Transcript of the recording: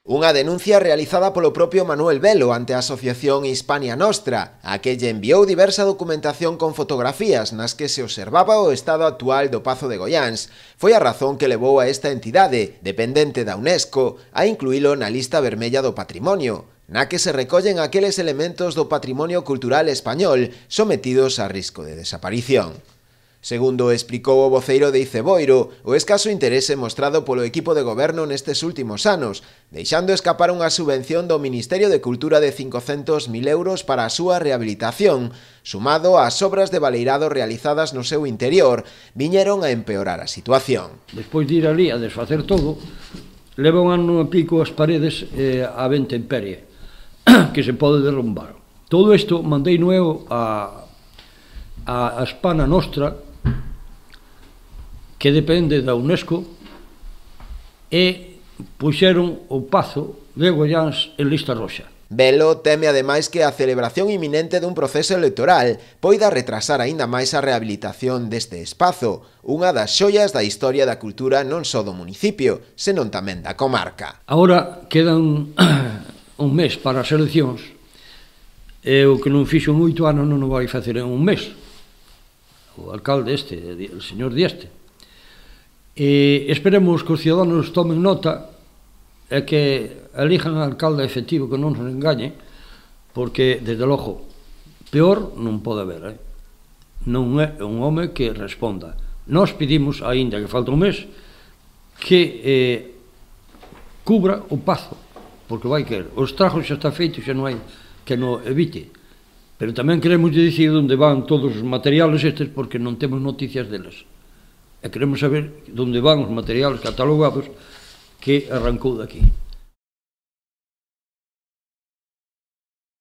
Unha denuncia realizada polo propio Manuel Velo ante a Asociación Hispania Nostra, a que lle enviou diversa documentación con fotografías nas que se observaba o estado actual do Pazo de Goiáns. Foi a razón que levou a esta entidade, dependente da UNESCO, a incluílo na lista vermella do patrimonio, na que se recollen aqueles elementos do patrimonio cultural español sometidos a risco de desaparición. Segundo explicou o voceiro de Iceboiro, o escaso interese mostrado polo equipo de goberno nestes últimos anos, deixando escapar unha subvención do Ministerio de Cultura de 500.000 euros para a súa rehabilitación, sumado ás obras de baleirado realizadas no seu interior, viñeron a empeorar a situación. Despois de ir ali a desfacer todo, leva un ano e pico as paredes a intemperie, que se pode derrumbar. Todo isto mandei eu a Hispania Nostra, que depende da UNESCO, e puxeron o Pazo de Goiáns en lista roxa. Velo teme ademais que a celebración inminente dun proceso electoral poida retrasar aínda máis a rehabilitación deste espazo, unha das xoias da historia da cultura non só do municipio, senón tamén da comarca. Agora quedan un mes para as eleccións, e o que non fixo en 8 anos non o vai facer en un mes. O alcalde o señor Dieste. E esperemos que os ciudadanos tomen nota e que elijan a alcalde efectivo, que non se engañe, porque, desde logo, peor non pode haber. Non é un home que responda. Nós pedimos, aínda que falta un mes, que cubra o Pazo, porque vai querer. O estrago xa está feito, xa non hai que non evite. Pero tamén queremos dicir onde van todos os materiales estes, porque non temos noticias deles. E queremos saber onde van os materiales catalogados que arrancou daqui.